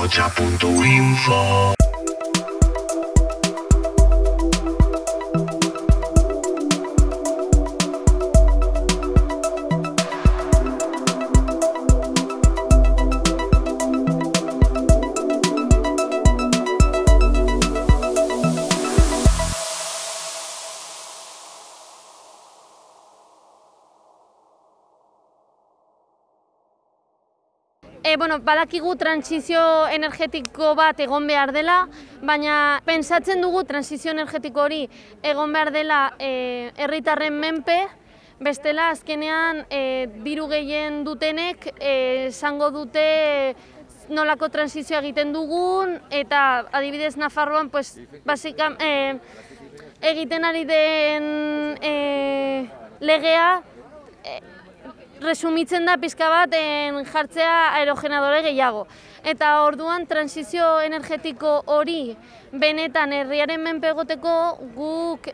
Ahotsa.info. Badakigu transizio energetiko bat egon behar dela, baina pentsatzen dugu transizio energetiko hori egon behar dela herritarren menpe, bestela azkenean diru gehien dutenek esango dute nolako transizioa egiten dugun, eta adibidez Nafarroan egiten ari den legea resumitzen da pixka bat jartzea aerogeneradore gehiago. Eta orduan transizio energetiko hori benetan herriaren menpe egoteko guk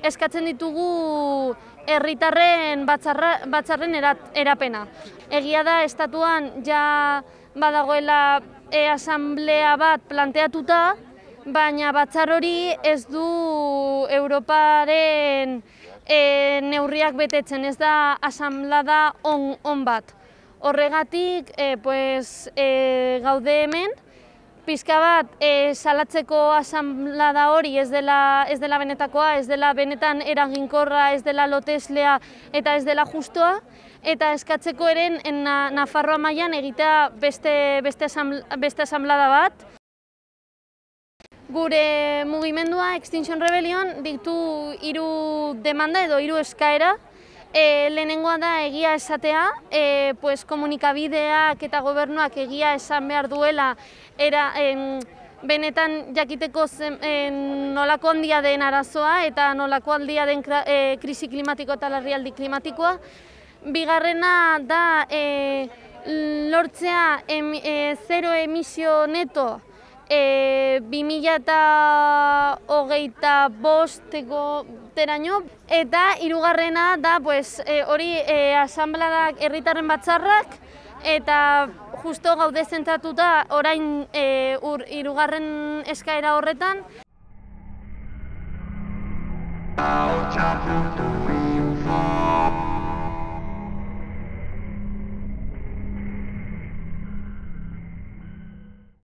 eskatzen ditugu herritarren batzarren erapena. Egia da estatuan ja badagoela asamblea bat planteatuta, baina batzar hori ez du Europaren neurriak betetzen, ez da asamblada on bat. Horregatik gaude hemen, pixka bat salatzeko asamblada hori ez dela benetakoa, ez dela benetan eraginkorra, ez dela loteslea eta ez dela justoa, eta eskatzeko eren Nafarroa mailan egitea beste asamblada bat. Gure mugimendua Extinction Rebellion ditu 3 demanda edo 3 eskaera. Lehenengoa da egia esatea, komunikabideak eta gobernuak egia esan behar duela benetan jakiteko nolako handia den arazoa eta nolako handia den krisi klimatiko eta larrialdi klimatikoa. Bigarrena da lortzea zero emisio neto 2025-teraino, eta hirugarrena da hori asambladak herritarren batzarrak, eta justo gaude zentratuta orain hirugarren eskaera horretan. Ahotsa.info.